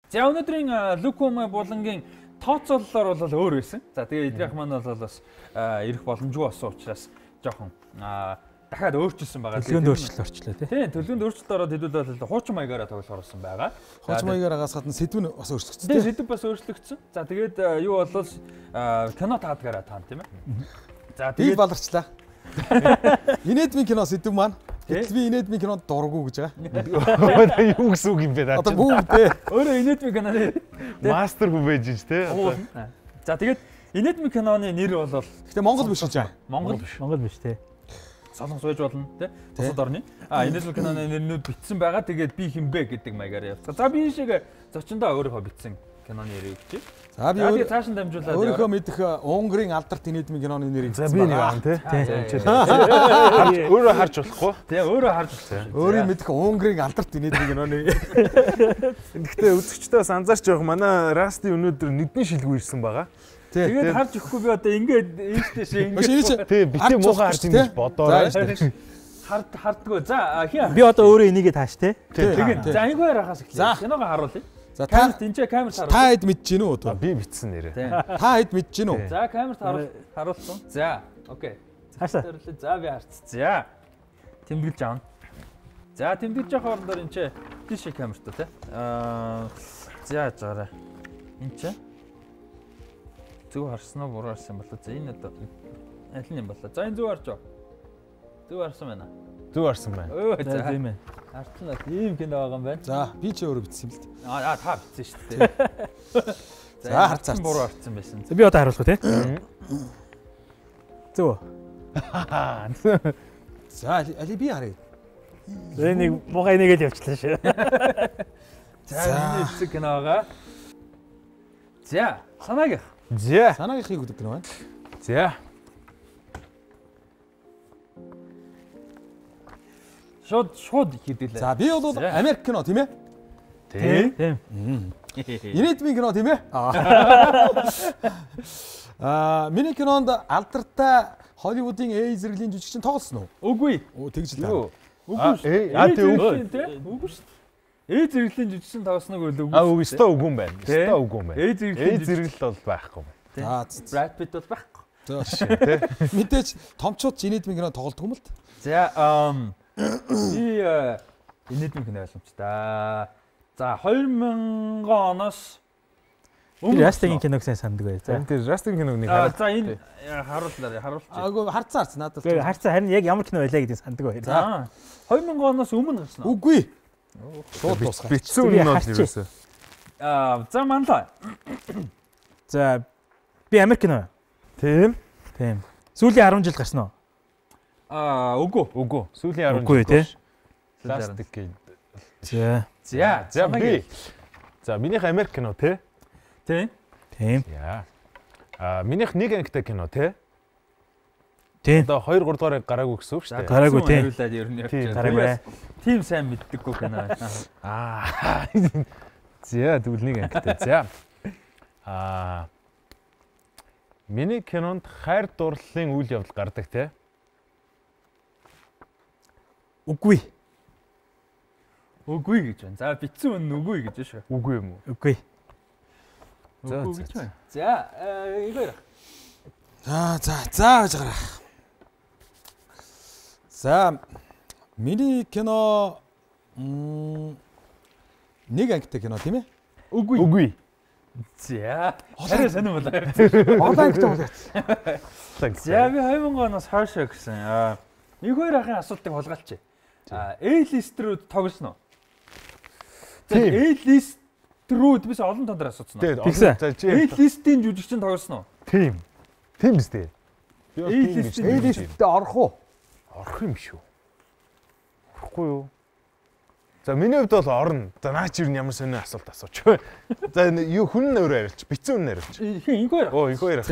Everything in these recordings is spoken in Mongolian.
За өнөөдрийн Лукум булангийн тооцооллоор бол өөр байсан. За тэгээ эдрийнх маань бол бас ирэх боломжгүй болсон учраас жоохон дахиад өөрчилсөн байгаа. Төлөвлөгөөнд өөрчлөлт орчлоо тий. Тийм, төлөвлөгөөнд өөрчлөлт ороод хэдүүлээ хуучин маягаараа тоглохоор болсон байгаа. Хуучин маягаараас гадна сэдв нь бас өөрчлөгдсөн. Тийм, сэдв бас өөрчлөгдсөн. За тэгээд юу болвол кино таадгаараа таана тийм ээ. За тэгээд баларчлаа. Инээдмийн кино сэдв маань. Гэтэл би инээдмийн кинонд дурггүй гэж байгаа. Юу гэсэн үг юм бэ наа. Одоо бүгдээ өөрөө инээдмийн киноны мастер хүвэж ш тий. За тэгээд инээдмийн киноны нэр бол гэтээ Монгол биш гэж байгаа. Монгол биш тий. Солонгос байж болно тий. Бусад орны. Инээдмийн киноны нэрнүүд бичсэн байгаа. Тэгээд би хинбэ гэдэг маягаар явцгаа. За би шиг зочиндоо өөрийнхөө бичсэн киноны нэрийг чи. За би цааш нь дамжуулаад өөрийнхөө мэдэх Унгарын алдарт инээдмийн киноны нэрийг за би нэг аан тий. Өөрөө харж болохгүй. Тий, өөрөө харж болохгүй. Өөрийн мэдэх Унгарын алдарт инээдмийн киноны. Гэхдээ үзэгчдээ бас анзаарч явах манай Расти өнөөдөр нүдний шилгүй ирсэн байгаа. Тэгээд харж өгөхгүй би одоо ингээд ийштэйшээ ингээд тий битээ муухай харж ингэж бодоорой. Хардггүй. За би одоо өөрөө энийгээ тааш тий. Тэгээд за айгуугаар хахаас эхлэе. Киногоо харуулъя. За камерт энэ камерт харуулъя. Та хэд мэдэж гинөө одоо? Би битсэн нэрээ. Та хэд мэдэж гинөө? За камерт харуулсан. За окей. Хаашаа? За би харц. За. Тэмдэглэж аавна. За тэмдэглэж явах хоорондоор энэ тийш камерт тий. За заарай. Энэ зөв харсан уу буруу харсан болоо. За энэ одоо аль нь юм болоо. За энэ зөв харж аа. Зөв харсан байна. Зөв харсан байна. За тийм ээ. Артлаа ийм кино байгаа юм байна. За би ч өөрөө бичсэн юм л дээ. Та бичсэн шүү дээ. За харцсан буруу харсан байсан. Би одоо харуулах тий. Зөв. За али би харъя. Энийг муухай нэгээл явчлаа шүү. За энэ хэсэг кино байгаа. За санаагийн. За санаагийнхыг үздэг кино байна. За шууд хийдэлээ. За би бол Америк кино тийм ээ? Тийм. Инээдмийн кино тийм ээ? Миний кинонд алдартай Холливуудын зэрэглэлийн жүжигчин тоглосон уу? Үгүй. Тэгж л таа. Үгүй шүү. Үгүй шүү. Зэрэглэлийн жүжигчин тоглосног үгүй. Үгүй өстой үгүй юм байна. Өстой үгүй юм байна. Зэрэглэл бол байхгүй. Brad Pitt бол байхгүй. Тий. Мэдээж томчууд инээдмийн кино тоглодог юм л та. За би инээдмийн кино ойлгомжтой. За 2000 оноос Растигийн киног сайн санддаг бай. За энэ Растигийн киног нэг за энэ харуулъя. Аагүй харцаарч надад. Харцаа харин яг ямар кино байлаа гэдгийг санддаг бай. За 2000 оноос өмнө гарсан уу? Үгүй. Шууд дуусгав. Битсэн үнэ бол юусэн. За манлаа. За би Америк кино. Тийм. Сүүлийн 10 жил гарсан уу? Үгүй. Сүүлийн 10 жил. Үгүй тий. Пластик гин. За би. За минийх Америк кино тий. Тийм. Яа. Минийх нэг ангитай кино тий. Тийм. Одоо 2 3 дугаар гараагүй гэсэн үг шүү дээ. Гараагүй тийм. Хариулаад ер нь явчих. Гараагүй. Тим сайн мэддэггүй кино. За тэгвэл нэг ангитай. За. Миний кинонд хайр дурлалын үйл явдал гардаг тий. Үгүй. Үгүй гэж байна. За битсэн үнэн үгүй гэж шүү. Үгүй юм уу? Үгүй. За гэж байна. За игээр. За гэж гараа. За миний кино нэг ангитай кино тийм ээ? Үгүй. За харин сонирм болоо. Олон ангитай болоо. За би 2000 оноос хойш гэсэн. Нэг хоёр ахын асуултыг хулгайлчих. A-list руу тоглосноо. A-list руу бис олон тондор асуусан уу? A-list-ийн жүжигчин тоглосноо. Тийм биз дээ. A-list-д орох уу? Орох юм шүү. Орохгүй юу? За миний хувьд бол орно. За наа чи юу ямар сонио асуулт асууч. За юу хүн нөр арилч, бицэн хүн арилч. Хин ингээр. Ингээр ах.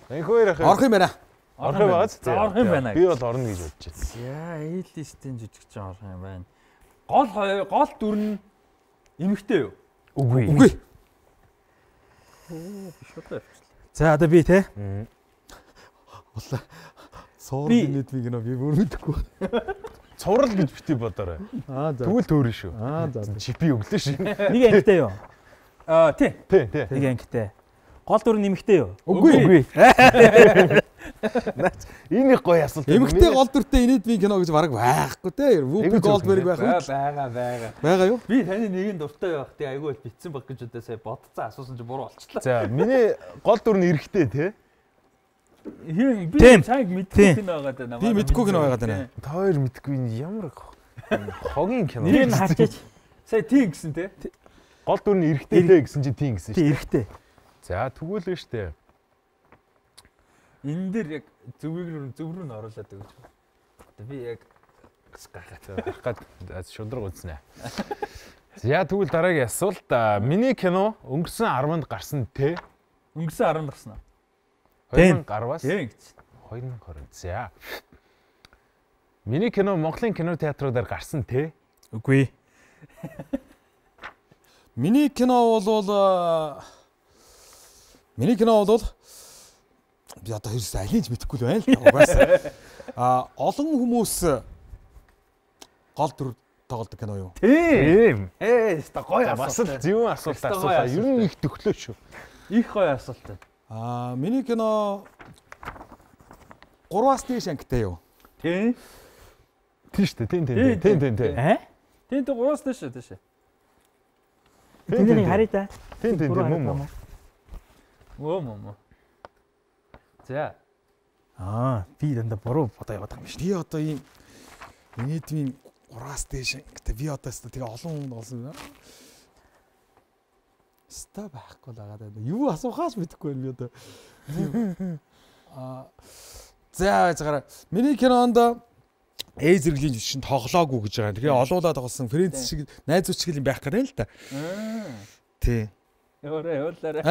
Ингээр ах. Орох юм байна. Орох юм байна. Би бол орно гэж бодож байна. За A-list-ийн жүжигчин орох юм байна. Гол дүр нь эмэгтэй юу? Үгүй. За одоо би те. Улаа. Суур инээдмийн кино би бүр мэдэхгүй. цуврал гэж бити бодоорой. Аа за. Тэгвэл төөрөн шүү. Аа за. Чипи өглөө шүү. Нэг ангитай юу? Тий. Тий. Нэг ангитай. Гол дүр нэмэгтэй юу? Үгүй. Энэ их гоё асуулт. Эмэгтэй гол дүртэй инээдмийн кино гэж бараг байхгүй те. Вупи Голдберг байх уу? Байгаа. Байгаа юу? Би таны нэгэн дуртай байх тий айгүй битсэн баг гэж удаа сая бодцсан асуусан чи буруу болчихлоо. За миний гол дүр нь эрэхтэй тий. Хин би Тийм. цааг мэдгүй кино байгаа даа. Би мэдгүй кино байгаа даа. Та хоёр мэдгүй энэ ямар хогийн кино. Нэр нь хачаач. Сая тийм гэсэн тий. Гол дүр нь эрэхтэй дээ гэсэн чи тийм гэсэн Тий шүү. эрэхтэй. За тэгвэл нь штэ. Энэ дээр яг зөв рүү нь оруулаад өгч. Би яг гахаад шудраг үзнэ. За тэгвэл дараагийн асуулт миний кино өнгөрсөн 10-нд гарсан те. өнгөрсөн 10 гарсан. 2000 гарвас Тийм гэж. 2020. За. Миний кино Монголын кино театруудаар гарсан те. Үгүй. Миний кино бол би одоо хэрэг алинж мэдэхгүй л байна л да. Угаасаа. Олон хүмүүс гол дүр тоглодог кино юу? Тийм. Ста гоё Бас асуулт. л зөв асуулт асуулаа. Ер нь их төглөө шүү. Их гоё асуулт. Миний кино 3-аас дээш ангитай юу? Тийм. Тийм штэ. Тийм. Тийм. Тийм 3-аас дээш. Тэнийг харъя да. Тийм мөн. Мөө. За. Би дандаа буруу бодоо яваад байгаа юм шүү. Би одоо ийм инээдмийн 3-аас дээш ангитай би одоо тэгээ олон хүн олсон. Ста байхгүй л байгаа даа. Юу асуухаас мэдэхгүй байна би одоо. За яагаад миний кинонд зэрэглэлийн жишин тоглоогүй гэж байгаа. Тэгээ олуулаад тоглосон Фрэнс шиг найзууч шиг юм байх гэдэг л да. Тий. Явуулаарай.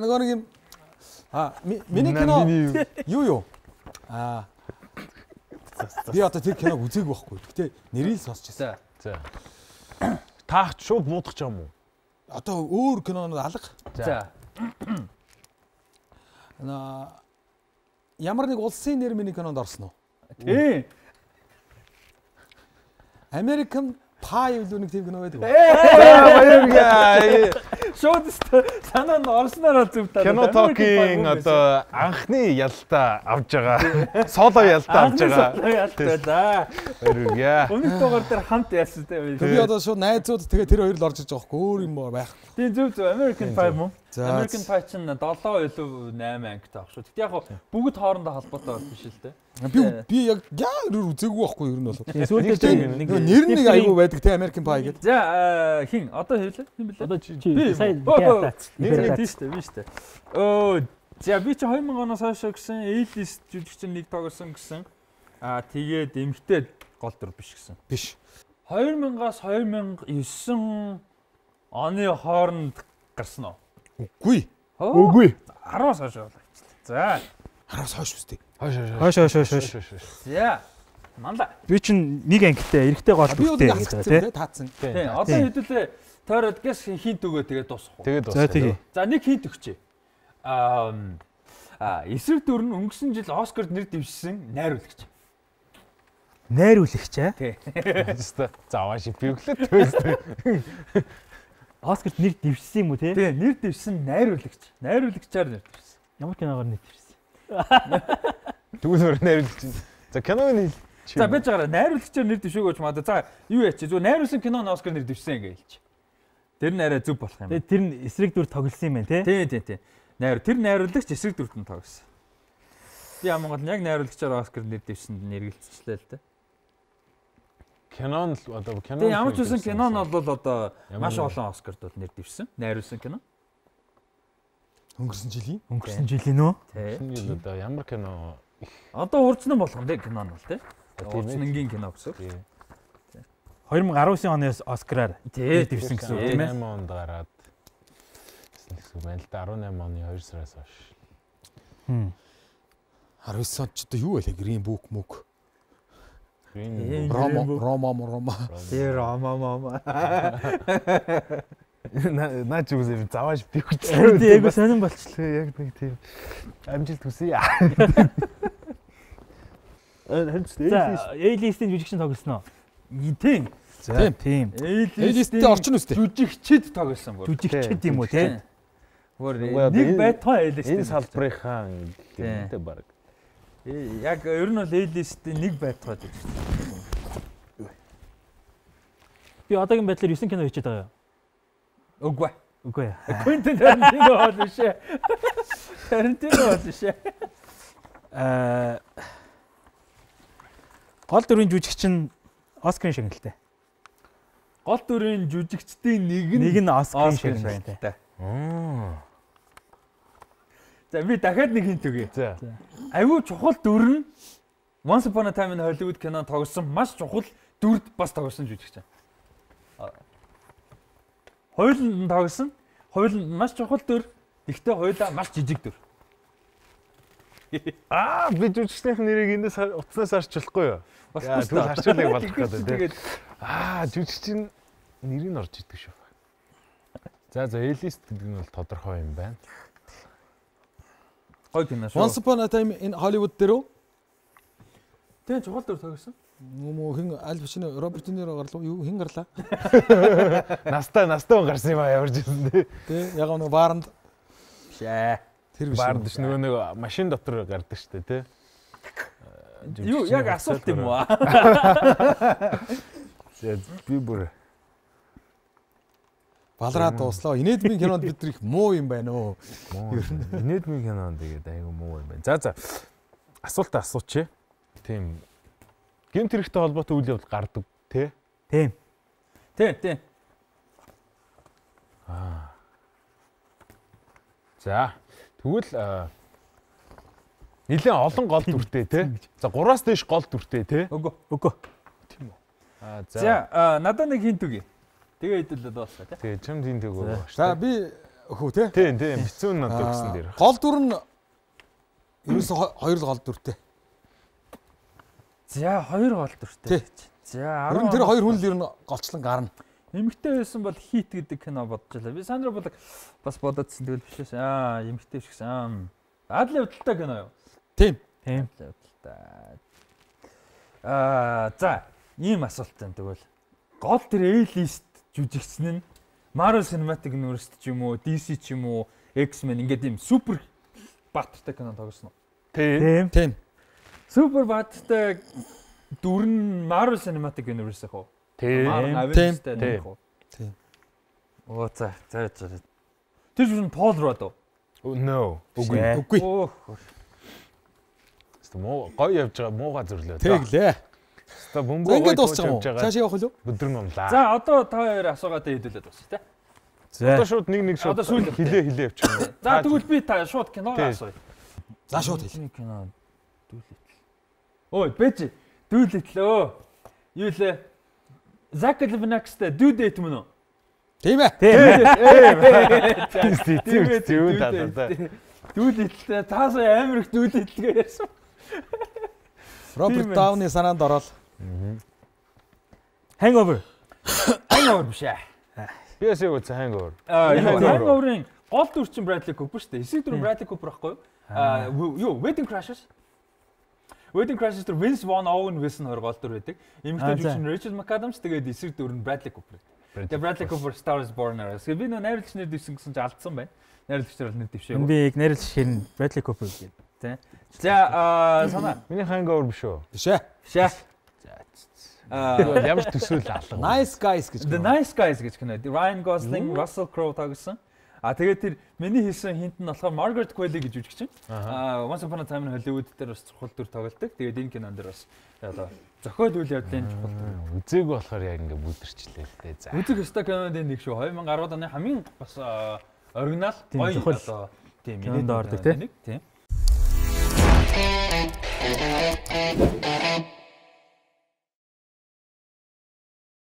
Нөгөө нэг юм миний кино юу? Би одоо тэр киног үзээгүй байхгүй. Гэтэ нэрийг сонсчихсан. За. Таах шууд муудах ч юм уу? Одоо өөр кинонод алга. За. Ямар нэг улсын нэр миний кинонд орсон уу? Тийм. American Pie юу нэг тийм кино байдаг. Баяргаа. Шууд санаа нь орсноор зөв таа. Кино токийн одоо анхны ялтаа авж байгаа. Соло ялтаа авж байгаа. За. Баяргаа. Өмнөх дугаар дээр хамт яасан те. Би одоо шууд найзууд тэгээ тэр хоёр л орж иж байгаа хгүй өөр юм байх. Тийм зөв American Pie мөн. За. American Pie чинь 7 илүү 8 ангитай баг шүү. Тэгтээ яг бүгд хоорондоо холбоотой байх биш л те. Би яг үзээгүй байхгүй ер нь бол. Сүүлдээ Нэр нэг айгүй байдаг те American Pie гэдэг. За хин одоо хэлээ. Хин блэ? Одоо чи сая Нэр тийм шүү дээ. За би чи 2000 оноос хойш гэсэн A-list жүжигчин нэг тоглосон гэсэн. Тэгээд эмгтээ гол дүр биш гэсэн. Биш. 2000-аас 2009 оны хооронд гарсан уу? Үгүй. Үгүй. 10-аас хойш болоо. За. 10-аас хойш үстэй. Хойш. За. Манда. Би чинь нэг ангитай эрэхтэй гол Би дүртэй одоо гэдэг тий. таацсан. Тийм. Одоо хэдүүлээ тойроод гэс хинт өгөө тэгээд дуусах уу? Тэгээд За тэгээ. За нэг хинт өгчээ. Эсрэг дүр нь өнгөрсөн жил Оскарт нэр дэвшсэн найруулагч. Найруулагч аа. Тий. Заавал ши би өглөө. Оскарт нэр дэвшсэн юм уу тий? Тий, нэр дэвшсэн найруулагч. Найруулагчаар нэр дэвшсэн. Ямар киногоор нэр дэвшсэн? Тэгвэл найруулагч. За киноны За байж байгаа найруулагчаар нэр дэвшээгөөч маа. За юу яач зүгээр найруулсан киноны Оскар нэр дэвшсэн ингээ хэлчих. Тэр нь арай зөв болох юм байна. Тэр нь эсрэг дүр тоглосон юм байна тий? Тийм. Тэр найруулагч эсрэг дүртэн тоглосон. Би Монголд яг найруулагчаар Оскар нэр дэвшсэнд нэргэлцчихлээ л дээ. кинон л одоо кинон. Тэгээ ямар ч үсэн кино нь бол одоо маш олон Оскарт бол нэр дэвшсэн. Найруулсан кино. Өнгөрсөн жилийн нөө? Тий. Одоо ямар кино Одоо урдсан болгон дээ кино нь бол тий. Урдсангийн кино гэсэн. 2019 оны Оскараар Тий. дэвшсэн гэсэн үг тийм ээ. 18 онд гараад гэсэн байна л да 18 оны 2 сараас хойш. 19 онд ч одоо юу байлаа Green Book мөг. Рома. Тэр рома. Наа ч үгүй завааш би хүч. Яг сонирн болчихлоо. Яг нэг тийм амжилт хүсье. Харин За, A-list-ийн жүжигчин тоглосноо. Тийм. За, тийм. A-list-ийн орчин үстэй. Жүжигчд тоглосон бүр. Жүжигчд юм уу те? Нэг байтугай A-list-ийн энэ салбарынхаа гэмтэй баг. Яг ер нь бол A-list-ийн нэг байтугай жүжигч. Би одоогийн байдлаар 9 кино хийчихэд байгаа юу? Үгүй. Үгүй. Quentin Tarantino бол биш ээ. Tarantino бол биш ээ. Гол дүрийн жүжигчин Оскарын шагналтай. Гол дүрийн жүжигчдийн нэг нь Оскарын Оскарын шагналтай. За би дахиад нэг хинт өгье. За. Аюу чухал дүр нь Once Upon a Time in Hollywood кинонд тоглосон маш чухал дүрд бас тоглосон жүжигчин. Хоёуланд тоглосон. Хоёуланд маш чухал дүр. Гэхдээ хоёулаа маш жижиг дүр. Би жүжигчдийн нэрийг эндээс утаснаас харж болохгүй юу? Тэгвэл харчуулгыг болгох гэдэг. Тэгээд жүжигчин нэрийг орж идэг шүү. За A-list гэдэг нь бол тодорхой юм байна. Гой кино шүү. Once Upon a Time in Hollywood дээр үү? Тийм чухал дүр тоглосон. Мөн хин Аль Пачино, Роберт Де Ниро гарлаа. Юу хин гарлаа? Настай гарсан юм яварж ирсэн тий. Тэ яг нэг бааранд Шээ. тэр биш. Баард ш нөгөө машин дотор гардаг штэ тий. Юу яг асуулт юм уу? Би бүр Балраа дууслаа. Инээдмийн кинонд бид нар их муу юм байна уу? инээдмийн кинонд тэгээд айгу муу юм байна. За асуулт асууч. Тийм. Гэмт хэрэгтэй холбоотой үйл явдал гардаг тий. Тийм. Тийм. За тэгвэл нэлээд олон гол дүртэй тий. За 3-аас дээш гол дүртэй тий. Үгүй. Тийм үү. За надад нэг хинт үгүй. Тэгээ хэдүүлээд дуусна тий. Тэгээ чамд энэ төгөө. За би өхөө те. Тийм бицүүн надад өгсөн дээр. Гол дүр нь ерөөсө хоёр л гол дүртэй. За хоёр гол дүртэй. За Ер нь тэр хоёр хүн л ер нь голчлон гарна. Эмэгтэй байсан бол хит гэдэг кино бодож байлаа. Би Сандра Буллок бас бодоодсэн тэгэл бишээс. Эмэгтэй биш гэсэн. Адли удалтай кино юу? Тийм. Адли удалтай. За ийм асуулт байна тэгвэл. Гол тэр A-list жүжигчсэн нь Marvel Cinematic Universe ч юм уу, DC ч юм уу, X-Men ингээд ийм супер баатартай кино тоглосон уу? Тийм. Супер баатартай дүр нь Marvel Cinematic Universe хөө. Тийм. Тийм. Оо за. Тэр жүн Paul Rudd уу? No. Үгүй. Муу гоё явж байгаа мууга зөвлөө. Тэглээ. За бөмбөг ингээд гоё дуусчих юм уу? байгаа. Цааш явах уу? Өдөр номлаа. За одоо та хоёр асуугаад хэдүүлээд дуусах тий. Одоо шууд нэг шууд хилээ явчих юм. За тэгвэл би та шууд киног асууя. За шууд хэл. Кино дүүлэтэл. Ой, бэж дүүлэтлөө. Юу лээ? Zack Galifianakisтэй Due Date мөн үү? Тийм ээ. Дүүлэтлээ таасаа амар их дүүлэтлгээ ярьсан. Роберт Дауны санаанд ороод. Hangover биш ээ. Би ясаа үгүй Hangover. Hangover-ын гол дүр чинь Bradley Cooper шүү дээ. Эсрэг дүр Bradley Cooper байхгүй юу? Wedding Crashers. Wedding Crashers дээр Vince Vaughn, Owen Wilson хоёр гол дүр байдаг. Эмэгтэй жүжигчин Rachel McAdams тэгээд эсрэг дүр нь Bradley Cooper. Тэгээд Bradley Cooper Star is Born-аас. Би нөө найруулагч нэр дэвсэн гэсэн чинь алдсан байна. Найруулагч нар бол нэр дэвшээгүй. би яг найруулагч хэрн Bradley Cooper гэдэг. Тэ. За санаа. Миний Hangover биш үү? Бишээ. Ямар ч төсөөл алга. Nice Guys гэж. The Nice Guys гэж кино. Ryan Gosling, Russell Crowe tagaсан. Тэгээд тэр миний хийсэн хинт нь болохоор Margaret Qualley гэж жүжигчин. Once Upon a Time in Hollywood дээр бас чухал дүр тоглодог. Тэгээд энэ кинонд дээр бас одоо зохиол үйл явдлын чухал дүр. Үзээгүй болохоор яг ингээ бүдэрчлээ л дээ. За. Үзэг өстой киноны нэг шүү. 2010 оны хамгийн бас оригинал гоё одоо тийм кинонд ордог тийм.